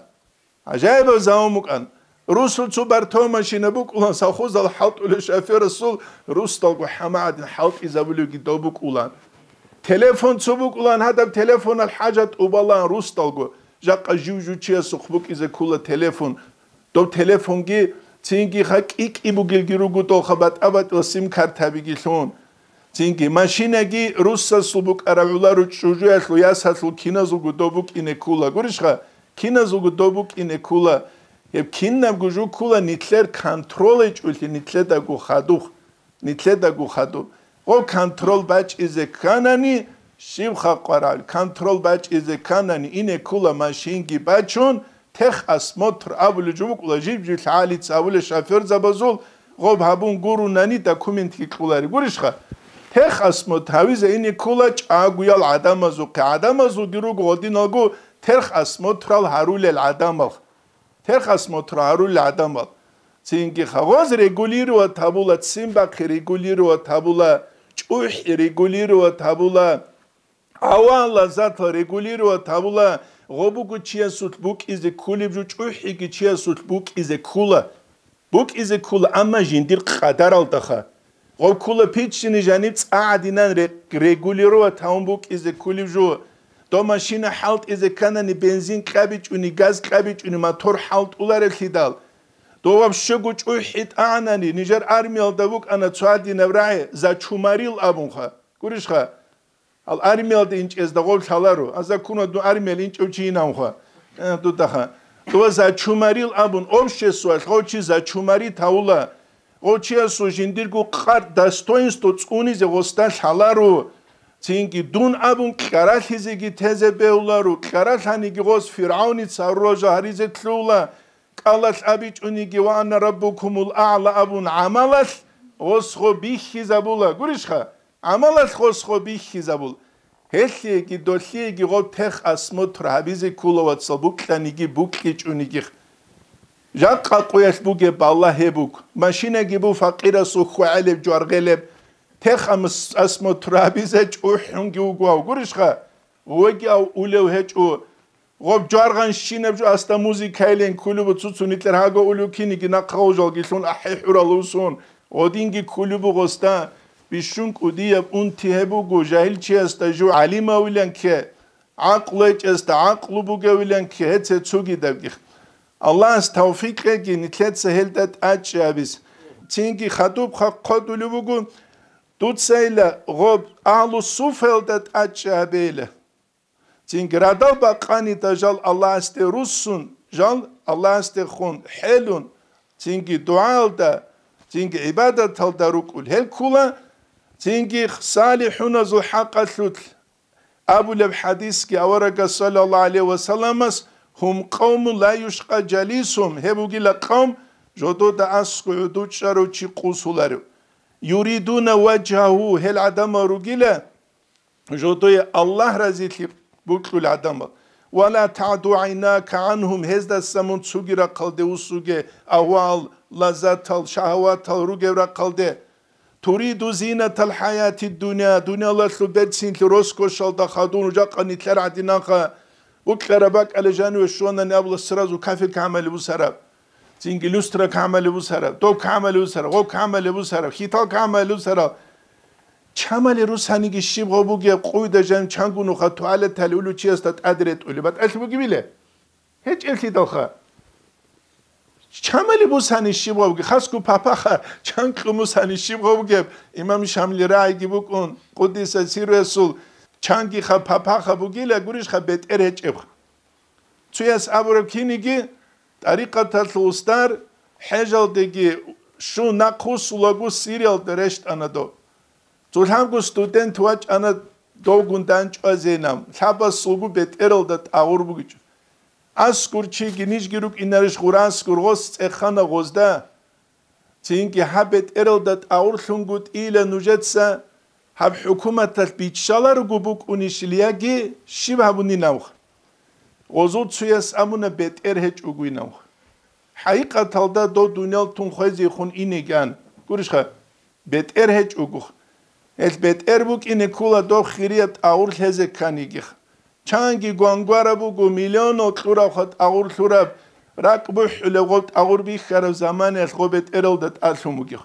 ГӀажаибаб заман букӀан. Русул цо бартав машина букӀулан, совхозал хӀалтӀулев шоферасул русдалго хӀама гӀадин хӀалтӀизабулевги дов букӀулан. Телефон цо букӀулан, гьадаб телефонал хӀажат тӀубалан русдалго. Жакъа жив-жив чиясухъ букӀизе ккула телефон. Доб телефонги цинги ха кӀи-кӀи бугелги руго долха батӀа-батӀила сим-картабиги лъун. Цинги машинаги руссасул букӀараб гӀоларо, чӀужуялъул, ясалъул киназулго доб букӀине ккула. Гурищха, киназулго доб букӀине ккула. Гьеб кинабго жо ккула нилъер контролайчӀулъи нилъедаго хадуб. Нилъедаго хадуб. Гъо контрол бачӀизе кканани, щиб хакъарал, контрол бачӀизе кканани, ине ккула машинги бачун, техосмотр абулеб жо букӀула, жиб-жиб лъагӀалица абулеб шоферзабазул, гъоб гьабун гурунани документги кьолареб гурищха? Техосмотр гьавизе ине ккула чӀагоял гӀадамазухъе, гӀадамазулги руго гъодиналго техосмотрал гьарулел гӀадамал. Техосмотр гьарулел гӀадамал. Цинги хагъоз регулировать гьабула, ццин бахъи регулировать гьабула, чӀухӀи регулировать гьабула. Авалазатал регулировать гьабула, гъо буго чиясулъ букӀизе кколеб жо, чӀухӀиги чиясулъ букӀизе ккола. БукӀизе ккола, амма жиндир къадаралдаха. Гъо ккола пиччини жаниб цӀа гӀадинан ре-, регулировать гьавун букӀизе кколеб жо. Дов машина хӀалтӀизе кканани, бензин кьабичӀони, газ кьабичӀони мотор хӀалтӀулареблъидал. Дов вообще-го чӀухӀи тӀагӀанани, нижер армиялда букӀана цо гьадинаб рагӀи, зачумарил абунха. Гурищха? Гьал армиялда инчӀезда гъов лъаларо, а закона дун армиялда инчӀев чи инанха. Э, дудаха. Дова зачумарил абун, обществоялъ гъов чи зачумари тавула. Гъов чиясул жиндирго къарт, достоинство цӀунизе гъосда лъаларо. Цинги дун абун кьаралъизеги тезе бегьуларо, кьаралъаниги гъос ФиргӀавница гьарурал жо гьаризе лъугьула, кӀалалъ абичӀониги «Ва ана раббукумул а'ла» абун гӀамалалъ гъос гъо бихьизабула. Гурищха? гӀамалалъ гъос гъо бихьизабул. Гьелъиеги долъиеги гъоб тех осмотр гьабизе ккола, вацал, букьаниги букьичӀониги. Жакъа къуялъ бугеб балагь гьеб буго. Машинаги бу факъирасул хьвагӀелеб, жваргъелеб. Тех амс-, осмотр гьабизе чӀухӀунги вуго, гьав гурищха? Гъоги ав улев гьечӀо. Гъоб жваргъанщинаб жо аста музыкайилан кколеб буго, цуцун нилъер гьаго улев киниги нахъа гъожалги лъун ахӀи-хӀурал усун. Гъодинги кколеб буго гъоста бищун кӀудияб унти гьеб буго, жагьилчиясда жо гӀалимавилан кке, гӀакълу гьечӀесда гӀакълу бугевилан кке, гьеце цогидабги. Аллагьас тавфикъ кьеги нилъеца гьелда тӀадчӀи гьабиз. Цинги хадуб хъа-, хъодулеб буго, дуцайила гъоб агьлу суфаялда тӀадчӀи гьабейила. Цинги радал бакъанида жал Аллагьасде руссун, жал Аллагьасдехун хӀелун, цинги дугӀаялда, цинги гӀибадаталда рукӀул гьел ккола, цинги салихӀуназул хӀакъалъулъ абулеб хӀадисги аварагас саллаллагьу гӀалайгьи ва салламас: «Гьум къавмун ла юшкъа жалисугьум», гьеб бугила къавм, жодода аскӀов гӀодов чӀарав чи къусуларев. «Юридуна важгьагьу», гьел гӀадамал ругила, жодое Аллагь разилъи букьул гӀадамал. «Ва ла тагӀду гӀайнака гӀангьум», гьездаса мун цуги рахъалде вуссуге, агьвал, лаззатал, шагьаватал ругев рахъалде. «Туриду зинатал хӀаяти дунья», дунялалъул берцинлъи роскошалда хадун жакъа нилъер гӀадинанха, букьараб бакӀале жаниве щванани абула сразу кафирка гӀамали бусараб. Цинги люстра камали бусараб, доб камали бусараб, гъоб камали бусараб, хитал камали бусараб. Чамали русаниги щиб гъо бугеб къуйда жан чангу нуха туалетали улучиясда тӀад ретӀули батӀалъи бугебиле? ГьечӀеблъидалха. Чамали бусани щиб гъо бугеб, хасго папаха чан кьумусани щиб гъо бугеб, имам Шамли рагӀиги букӀун, къуддиса сирругьу, чангиха папаха бугила гурищха бетӀер гьечӀебха. Цуяс абураб киниги, тӀарикъаталъул устар, хӀежалдеги щун нахъвуссулаго Сириялда рещтӀана дов. Цо лъабго студент вачӀана довгун дандчӀвазейилан, лъабасулго бетӀералда тӀагъур бугичӀо. АскӀур чиги нижги рукӀинарищ гъур аскӀур, гъос цӀехана гъозда. Цинги гьаб бетӀералда тӀагъурлъунгутӀила нужеца гьаб хӀукуматалъ биччаларого букӀунищил яги щиб гьабунилавха? Гъозул цуяс абуна бетӀер гьечӀогойилавха. ХӀакъикъаталда дов дуниял тун хвезехун инеги ан. Гурищха, бетӀер гьечӀогох. Гьел бетӀер букӀине ккола дов хирияб тӀагъур лъезе кканигиха. Чанги гвангвараб буго миллионал кьуравха тӀагъур лъураб, ракӀ бухӀулеб гъоб тӀагъур бихьараб заманаялъ гъоб бетӀералда тӀалъун бугех.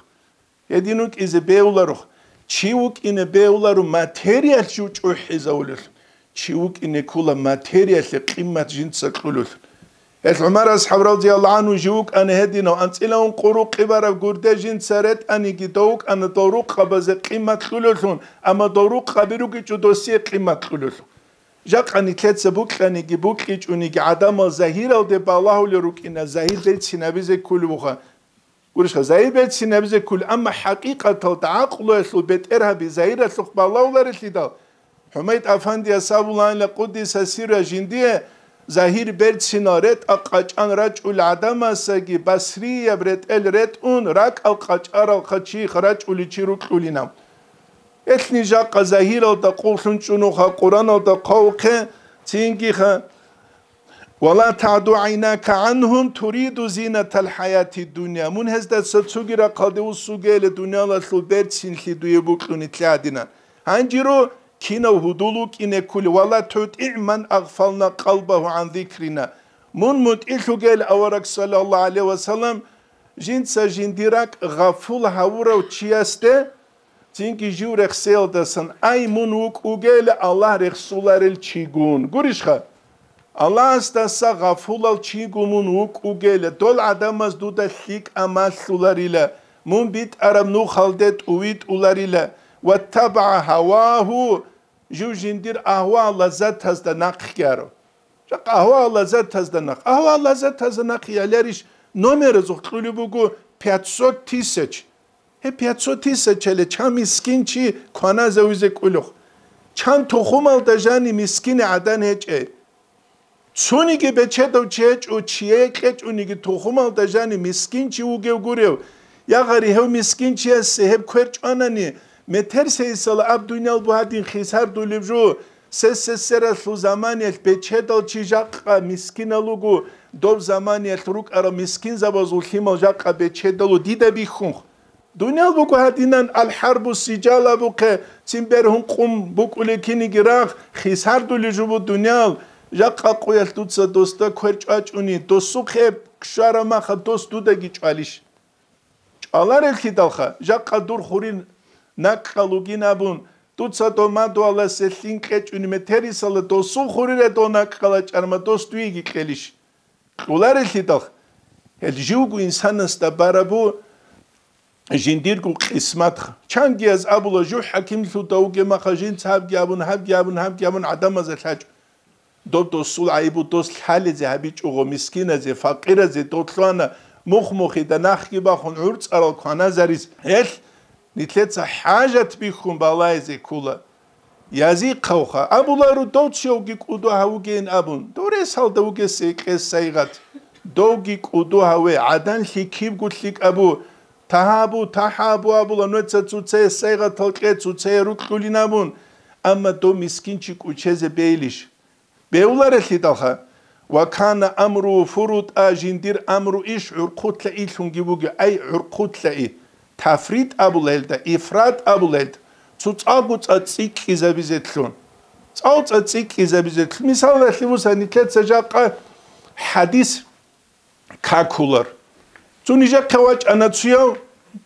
Гьедин вукӀизе бегьуларох, чи вукӀине бегьуларо материялъ жив чӀухӀизавулелъул, чи вукӀине ккола материялъе къимат жинца кьулелъул. Гьел ГӀумар асхӀаб радияллагьу гӀангьу жив вукӀана гьединав, анцӀила ункъо рукъи бараб гурде жинца ретӀаниги, дов вукӀана дов рукъабазе къимат кьулелъун, амма дов рукъаби ругичӀо досие къимат кьулелъул. Жакъа нилъеца букьаниги букьичӀониги гӀадамал загьиралде балагьулел рукӀина, загьир берцинабизе кколеб буха. Гурищха, загьир берцинабизе кколеб, амма хӀакъикъаталда гӀакълуялъул бетӀергьаби загьиралъухъ балагьуларелъидал, ХӀумайд Афандияс абулаанила къуддиса сирра жиндие, загьир берцинал ретӀа къачӀан рачӀул гӀадамасаги басрияб ретӀел ретӀун ракӀал къачӀаралха чи рачӀуличи рукьулина. Элъни жакъа загьиралда къуллъун чӀунуха, Къураналда хъвавухъе, цинги-ха: «Ва ла тагӀду гӀайнака гӀангьум туриду зинатал хӀаяти дунья». Мун гьездаса цоги рахъалде вуссугейиле дуниялалъул берцинлъи дуе букьуни лъадина. Гьанжиро кинав гьудул вукӀине ккули: «Ва ла тутӀигӀ ман агъфална къалбагьу гӀан зикрина». Мун мутӀигӀлъугейил авараг, саллаллагьу гӀалайгьи ва саллам, жинца жиндир ракӀ гъафул гьавурав чиясде, цинги жив рехсеялдасан, ай, мун вукӀугел Аллагь рехсуларел чигун. Гурищха? Аллагьасдаса гъафулал чигун мун вукӀугел, дол гӀадамаз дуда лъикӀа малъуларила, мун битӀараб нухалде тӀувитӀуларила. «ВаттабагӀа гьавагьу», жив жиндир агьва-лаззатазда нахъги аро. Жакъа агьва-лаззатазда нахъ. Агьва-лаззатазда нахъ яларищ номеразухъ кьулеб буго пятьсот тысяч. Гьеб пятьсот тысячале чан мискин чи кваназавизе кӀулухъ. Чан тухумалда жани мискине гӀадан гьечӀей. Цониги бечедав чи гьечӀо, чияе кьечӀониги тухумалда жани мискин чи вугев гурев. Я гъари, гьев мискин чиясе гьеб квер чӀванани, Метерсейсала аб дуниял бугьадин хисардулеб жо, сесесералъул заманиялъ бечедал чи жакъа мискинал руго, доб заманиялъ рукӀарал мискинзабазул лъимал жакъа бечедалу дида бихьунх. Дуниял буго гьадинан алхӀарбу сиджал абухъе, цин бергьун къум букӀулей киниги рагъ, хисардулей жо бу дуниял, жакъа къуялъ дуца досда квер чӀвачӀуни, досухъе щвараб маха дос дудаги чӀвалищ? ЧӀвалареллъидалха, жакъа дур хурин накӀкӀал вугин абун, дуца дов мадугьаласе лъин кьечӀуни метерисала досул хурира дов накӀкӀала чӀарма дос дуеги кьелищ? Кьолареллъидал, гьел живго инсанасда барабу жиндирго къисматха. Чангияз абула, жугь хӀакимлъуда вугеб маха жинца гьабги абун, гьабги абун, гьабги абун гӀадамазда лъачӀо. Доб досул гӀайибу дос лъалезе гьабичӀого, мискиназе, факъиразе дов лъугьана, мухъ-мухъида нахги бахун гӀурцӀарал кваназарис. Гьел нилъеца хӀажат бихьун балайзе ккола. Язихъавха, абулару, дов чевги кӀуду гьавугейин абун, дов ресалда вугесе кьес сайгъат. Довги кӀуду гьаве, гӀаданлъи кибго лъикӀабу, тагьабу, тахӀабу абула, нуца цуцае сайгъатал кье, цуцае рукьулин абун, амма дов мискинчи кӀучезе бейилищ? Бевларелъидалха, ва кана амру фурутӀа, жиндир амру иш гӀурхъулъа илъунги буги, ай гӀурхъулъа и, тафрит абула гьелда, ифрат абула гьелда, цо цӀалгу цӀа цӀикӀкӀизабизетлъун. ЦӀал цӀа цӀикӀкӀизабизетлъун. Мисалалъе буса, нилъеца жакъа хӀадис какулар. Цо нижехъе вачӀана цуяв,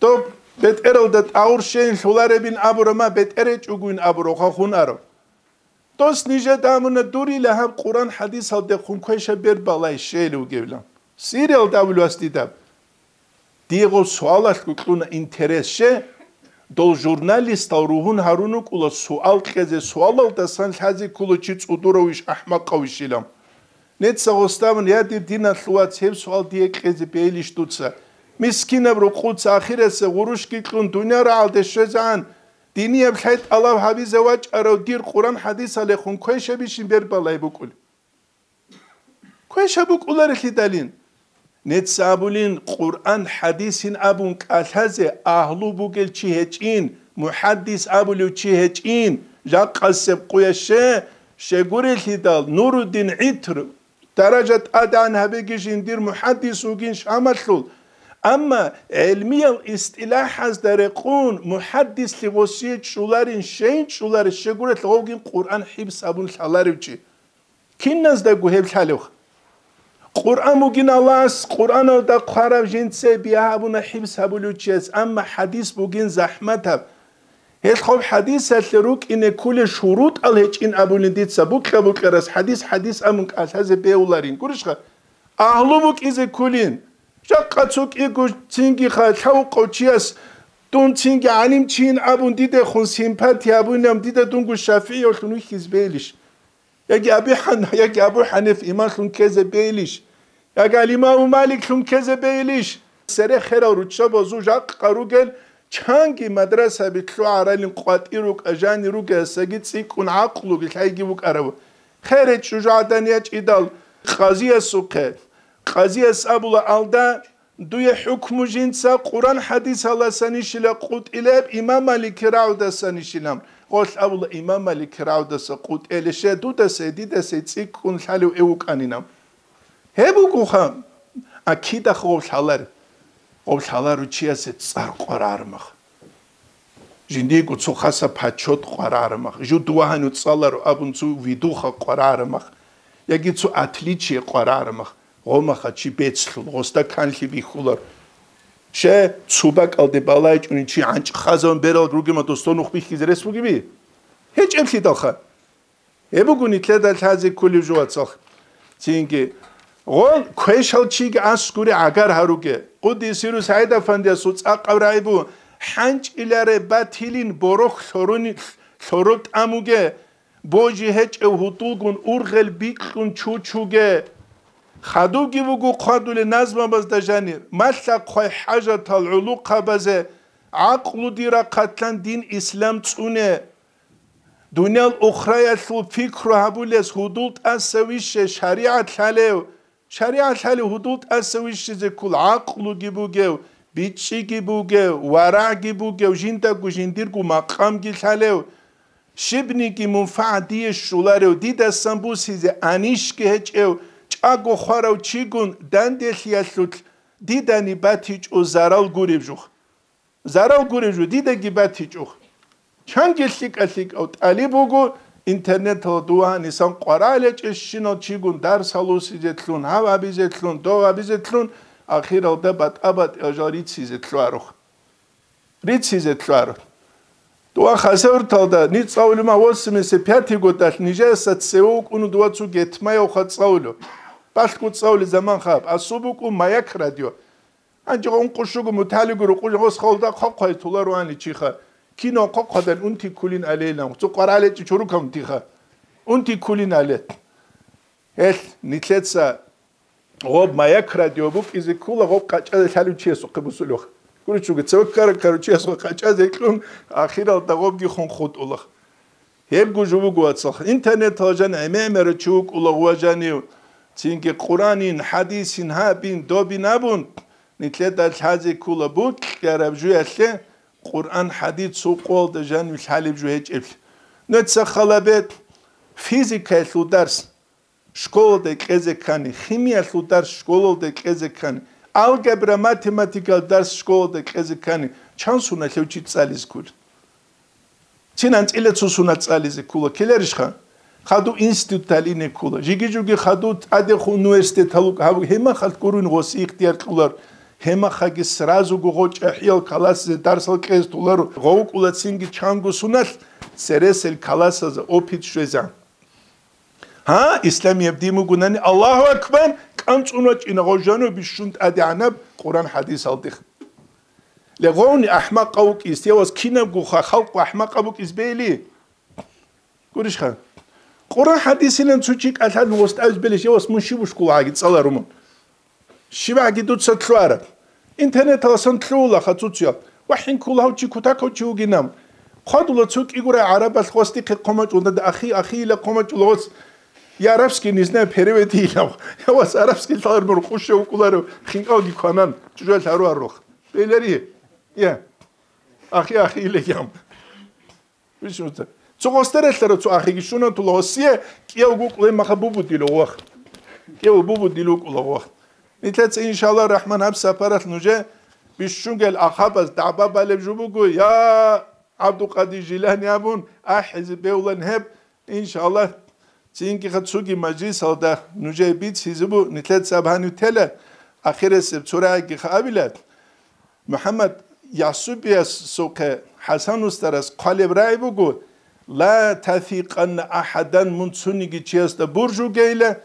доб бетӀералда тӀагъур щейин лъуларебин абурама, бетӀер гьечӀогойин абура, хахун арав. Дос нижеда абуна, дурила гьаб Къуран хӀадисалдехун квеша бер балай щейил вугевилан. Сириялда абулев ас дида. Дие гъов суалалъго кьуна интерес, ще, дол журналистал ругьун гьарун рукӀула суал кьезе, суалалдасан лъазе ккола чи цӀудуравищ, ахӀмакъавищилан. Неца гъосдабун, я, дир диналъул вац, гьеб суал дие кьезе бейилищ дуца? Мискинаб рукъуца ахираса гъурущги кьун, дунъя рагӀалде щвезегӀан, динияб лъай тӀалаб гьабизе вачӀарав дир Къуран хӀадисалехун квешабищин бер балай букӀулеб? Квешаб букӀуларелъидалин. Неца абулин, Къуран хӀадисин абун кӀалъазе агьлу бугел чи гьечӀин, мухӀаддис абулев чи гьечӀин, жакъасеб къуяще, щегурелъидал Нуруддин ГӀитр, даража тӀадегӀан гьабеги жиндир мухӀаддис вугин Шамалъул, амма гӀелмиял истилахӀазда рекъун мухӀаддислъи гъосие чӀуларин, щейин чӀуларищ щегурелъ гъовгин Къуран хӀибс абун лъаларев чи. Киназдаго гьеб лъалевха. Къуръан бугин Аллагьас, Къуръаналда хъварав жинце бигьа гьабуна хӀибс гьабулев чияс, амма хӀадис бугин захӀматаб. Гьелъ хъуб хӀадисалъе рукӀине ккулел шурутӀал гьечӀин абулин дица, букьа-букьарас хӀадис-хӀадис абун кӀалъазе бегьуларин. Гурищха? Агьлу букӀизе ккулин. Жакъа цо кӀиго цинги ха-, лъавукъав чияс дун цинги гӀалимчийин абун дидехун симпатия абунилан дида дунго шафигӀиявлъун вихьизе бегьилищ? Яги Аби Хьан-, яги Абу Ханиф имамлъун ккезе бейилищ? Яги ал-Имаму Маликлъун ккезе бейилищ? Цере херал руччабазул жакъа ругел чанги мадрасаби лъугӀаралин къватӀир рукӀа, жани ругесаги цӀикӀкӀун гӀакълуги лъайги букӀарав. Хере чӀужугӀадан ячӀидал къазиясухъе. Къазияс абула алда, дуе хӀукму жинца Къуран хӀадисаласанищила къутӀилеб, имам Малики рагӀудасанищилан. Гъолъ абула, имам Малики рагӀудаса къутӀелеше, дудаса, дидаса цӀикӀкӀун лъалев эв вукӀанинан. Гьеб бугоха, акидах гъов лъалар. Гъов лъалару чиясе цӀар къварагӀармах. Жиндиего цо хаса почёт къварагӀарамах, жу дувагьанив цӀаларо абун цо видуха къварагӀарамах, яги цо отличие къварагӀарамах, гъомаха чи бецлъун, гъосда канлъи бихьулар. Ще цо бакӀалде балайчӀунин чи гӀанчӀ хазаван берал ругема досдо нух бихьизе рес бугеби? ГьечӀеблъидалха. Гьеб буго нилъеда лъазе кколев жо, вацал. Цинги, гъол квешал чиги аскури гӀагар гьаруге. Къуддисиру СагӀид-Афандиясул цӀакъаб рагӀи бу: хӀанчӀиларе батилин борохь лъорони-, лъоро тӀамуге, божи гьечӀев гьудулгун ургъел бикьун чучуге. Хадубги буго хъвадулел назмабазда жанир, малъа-хъвай хӀажатал гӀулухъабазе, гӀакълуди рахъатлъан дин ислам цӀуне. Дуниял ухраялъул пикру гьабулес гьудул тӀаса вище шаригӀат лъалев, шаригӀат лъалев гьудул тӀаса вищизе ккол гӀакълуги бугев, бичӀчӀиги бугев, варагӀги бугев, жиндаго жиндирго макъамги лъалев, щибниги мунфагӀат дие щоларев, дидасан бусизе анищги гьечӀев, чӀаго хварав чигун данделъиялъулъ дидани батичӀо зарал гуреб жух. Зарал гуреб жо, дидаги батичӀо. Чанги лъикӀа-лъикӀав тӀалиб вуго, интернеталда дова гьанисан къваригӀинчӀищинал чигун дарс гьабизе лъун, гьав гьабизе лъун, дов гьабизе лъун, ахиралда батӀа-батӀиял жал рицизе лъугьаро. Рицизе лъугьаро. Дова Хасавюрталда ниц цӀалулеб мехалъ восемьдесят пятый годалъ нижеца цеве вукӀуна дова цо гетмаявха цӀалулев. Балъго цӀалулеб заман хаб. Асуб букӀун Маяк радио. Гьанже ункъо щуго муталигу рукъужагъос халда хъвахъвай туларуани чиха. Кино хъвахъвадан унти ккулин алейилан. Цо къваригӀинчӀи чорукав унтиха. Унти ккулин але. Гьелъ нилъеца гъоб Маяк радио букӀизе ккула гъоб къачӀазе лъалев чиясухъе бусулев. ГуричӀого, цеве ккара-ккарав чиясухъе къачӀазе кьун, ахиралда гъобги хун хутӀулах. Гьебго жо буго, вацал, интернеталда жан гӀемер-гӀемерав чи вукӀула гъува жанив, цинги Къуранин, хӀадисин гьабин, добин абун, нилъеда лъазе ккула букӀараб жуялъе Къуран, хӀадис цо къоялда жанив лъалеб жо гьечӀеблъи. Нуца халабе физикаялъул дарс школалда кьезе ккани, химиялъул дарс школалда кьезе ккани, алгебра, математикал дарс школалда кьезе ккани, чан суналъев чи цӀализе ккула? Цин анцӀила цо сунат цӀализе ккула, ккеларищха? Хадув институт талине ккула. Жиги-жуги хадув тӀадехун университеталукӀ гьав гьемахалъ гуруйн гъоси ихтияр кьулар. Гьемахаги сразуго гъочӀа хӀиял каласизе дарсал кьезе толаро. Гъов ккула цинги чанго суналъ цересел каласаза опыт щвезан. Гьа, исламияб дин бугунани, Аллагьу акбар, кӀанцӀун вачӀина гъожано бищун тӀадегӀанаб Къуран хӀадисалдихъ. Легъовни ахӀмакъав вукӀис, явас кинабгоха халкъ ахӀмакъаб букӀис бейли? Гурищха? Къуран хӀадисилан цо чи кӀалъалъун гъос тӀавиз белищ, явас мун щиб ушкулагӀаги цӀаларумун. ЩибгӀаги дуца лъугьараб. Интернеталасан лъугьула хацуциял. ВахӀин ккула гьав чи кутакав чи вугинав. Хъвадула цо кӀигурай гӀарабалъ гъосдихъе хъумачӀулда, ахи, ахиила хъумачӀула гъос. Я арабский, не знаю, переведи илав. Я вас арабский лъалар мур къуще вукӀуларев хинкӀалги кванан, чӀужуялъ гьаруаррухъ. Белари. Я. Ахи, ахиила ям. Виш муца. Цо гъосда релълъарав цо ахиги щунатула гъосие, кӀияв гукъулай маха бубудила вах. КӀияв бубудила вукӀула вах. Нилъеца, иншалла рахман, гьаб сапаралъ нужее бищунгел ахабаз дагӀба балеб жо буго, я ГӀабдулкъадир Жилани абун, ахӀизе бевлан гьеб, иншалла, цинги-ха цоги мажлисалда нужее бицизебу, нилъеца аб гьанив тела, ахиресеб цо рагӀигиха абила. МухӀаммад Ясубиясухъе ХӀасан устарас хъвалеб рагӀи буго: «Ла тафикъанна ахӀадан», мун цониги чиясда буржугейила,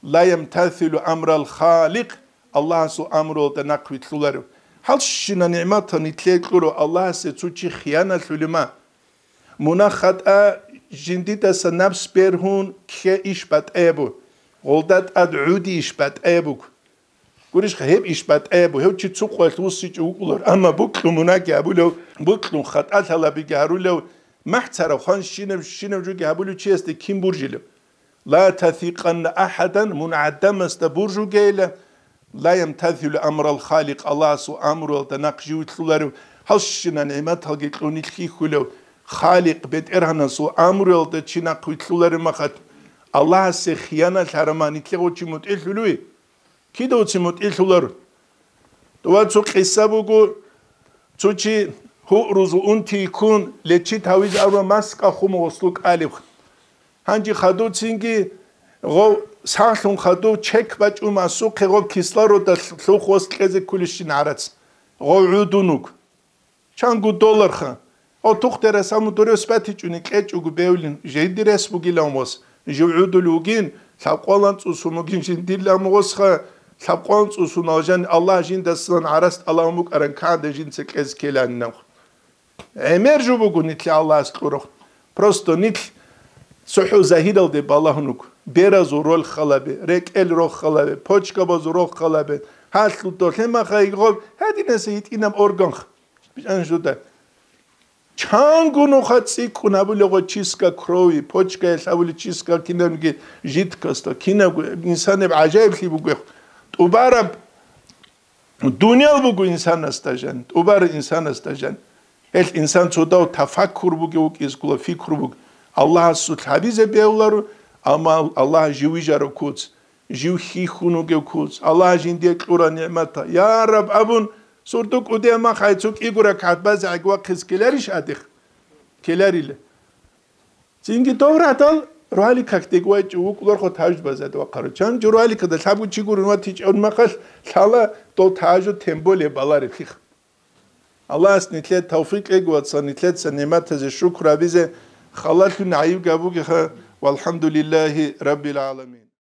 «ла ямтасилу амрал Халикъ», Аллагьасул амруялда нахъвилълъуларев. Гьалщина нигӀматал нилъее кьурав Аллагьасе цо чи хияналъулема. Мунагь-хатӀа жиндидаса напс бергьун кке иш батӀаябу, гъолда тӀад гӀуди иш батӀаябуг. Гурищха, гьеб иш батӀаябу, гьев чи цо къоялъ вуссичӀев вукӀулар, амма букьун мунагьги гьабулев, букьун хатӀа лъалабиги гьарулев, махӀ царав хван щинаб-щинаб жоги гьабулев чиясде кин буржилев? «Ла тафикъанна ахӀадан», мун гӀадамасда буржугейила, «ла ямтасилу амрал Халикъ», Аллагьасул амруялда нахъ живлъуларев, гьалщина нигӀматалги кьунил хьихьулев, Халикъ БетӀергьанасул амруялда чи нахъвилълъуларев махат, Аллагьасе хияналъ гьараман нилъего чи мутӀигӀлъулев? Кидавцин мутӀигӀлъулар? Дова цо къиса буго, цо чи гьуърузул унти йиккун, лечит гьавизе арва маскӀа хумугъуслу кӀалеб. Гьанже хадуцинги гъов сахлъун хадув чек бачӀун масухъе гъов кислорода лъухъ вас кьезе ккулищин гӀарац. Гъов гӀудун вуг. Чангу долларха. О, тухтера саму дурев спатичӀуни кьечӀого бевлин, жиндир рес бугилан вас. Жив гӀудул вугин, лъабкъвалан цӀусун вугин жиндирилан гъосха, лъабкъвалан цӀусун алжан Аллагь жиндасан гӀараст Аллагь мукӀаран кагӀда жинца кьез ккеланинав. ГӀемер жо буго нилъ Аллагьас кьурахъ. Просто нилъ цохӀо загьиралде балагьун вуго. Беразул роль халабе, рекӀел рохалабе, почкабазул рохалабе, гьалъул долъемаха игъоб гьадинаса гьитӀинаб орган. Бичан жуда. Чангу нуха цӀикӀкӀун гьабулего чистка крови, почкаялъ гьабули чистка кинабги жидкостал, кинабго инсанаб гӀажаиблъи буго. ТӀубараб Дуниял буго инсанасда жан, тӀубар инсанасда жан. Гьел инсан цодав тафаккур бугев вукӀизе ккола, фикру буго. Аллагьасулъ гьабизе бегьуларо, амма Аллагь жив вижарав куц, жив хьихьун вугев куц, Аллагь жиндие кьура нигӀмата. Я Раб абун, сурду кӀудияб мах гьай цо кӀиго ракагӀат базе гӀег вахъизе ккеларищ гьадихъ? Ккеларила. Цинги дов радал роликах дегвайчӀев вукӀуларха тажбазад вахъарав. Чан жо роликада лъабго чи гурун ватичӀев махалъ лъала дов тажу тем более балареб хих. Аллагьас нилъе тавфикъ кьеги, вацал, нилъеца нигӀматазе шукр гьабизе, халалъун гӀайиб гьабугеха, валхӀамдулиллагьи раббил гӀаламин.